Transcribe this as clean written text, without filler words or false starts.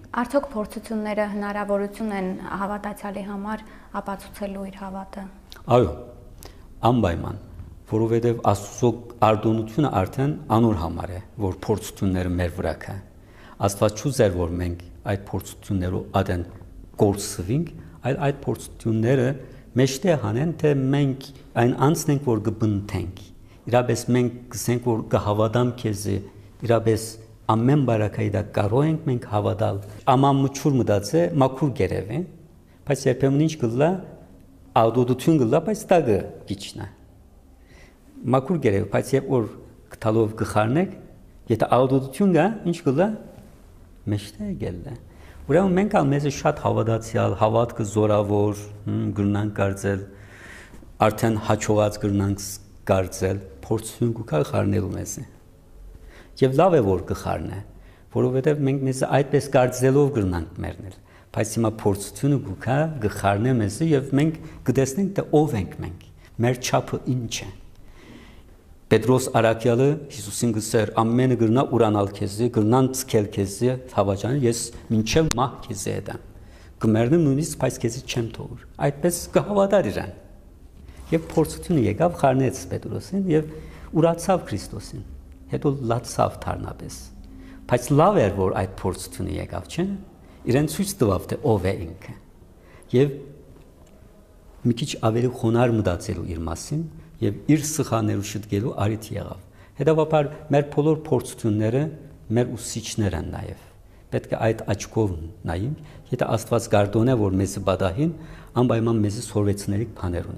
Արդյոք փորձությունները հնարավորություն են հավատացյալի համար ապացուցելու իր հավատը։ Այո, անպայման, որովհետև Աստծո արտոնությունը արդեն անոր համար է, որ փորձությունները մեր վրա կա։ Աստված չուզեր, որ մենք այդ փորձություններով ադեն կորսվենք, այլ այդ փորձությունները մեջտեղ հանեն, թե մենք այն անցնենք, որ կբնթենք։ Իրապես մենք գսենք, որ կհավատամ քեզ, իրապես ամեն բարակայի դա կարող ենք մենք հավատալ։ Ամամուչուր մտածե մաքուր գերև, բայց երբեմն ինչ կլա ադոդություն կլա, բայց դա գիչնա։ Մաքուր գերև, բայց երբ որ գտալով գխարնեք, եթե ադոդություն կա, ինչ կլա մեջտեղ գելը։ Ուրեմն մենք ալ մեզ շատ հավատացյալ, հավատքը զորավոր գրնանք կարծել, արդեն հաջողած գրնանք կարծել, փորձություն կուքա խառնելու մեզ։ Եվ լավ է որ կխառնե, որովհետև մենք մեզ այդպես կարծելով գրնանք մեռնել, բայց հիմա փորձությունը կուքա կխառնե մեզ եւ մենք կտեսնենք թե ով ենք մենք, մեր չափը ինչ է։ Պետրոս Արաքյալը Հիսուսին գսեր ամենը գրնա ուրանալ քեզ, գրնան ցկել քեզ, հավաճան ես մինչև մահ քեզ եդամ։ Կմեռնեմ նույնիսկ բայց քեզ չեմ թողուր։ Այդպես կհավատար իրան։ Եվ փորձությունը եկավ խառնեց Պետրոսին եւ ուրացավ Քրիստոսին։ Հետո լացավ թարնապես։ Բայց լավ էր որ այդ փորձությունը եկավ, չէ՞։ Իրեն ցույց տվավ թե ով է ինքը։ Եվ մի քիչ ավելի խոնար մտածելու իր մասին եւ իր սխալներու շտկելու արիթ եղավ։ Հետևաբար մեր բոլոր փորձությունները մեր ուսուցիչներ են նաեւ։ Պետք է այդ աչքով նայենք, եթե Աստված գարդոն է որ մեզ պատահին, անպայման մեզ սորվեցնելիք բաներ ունի։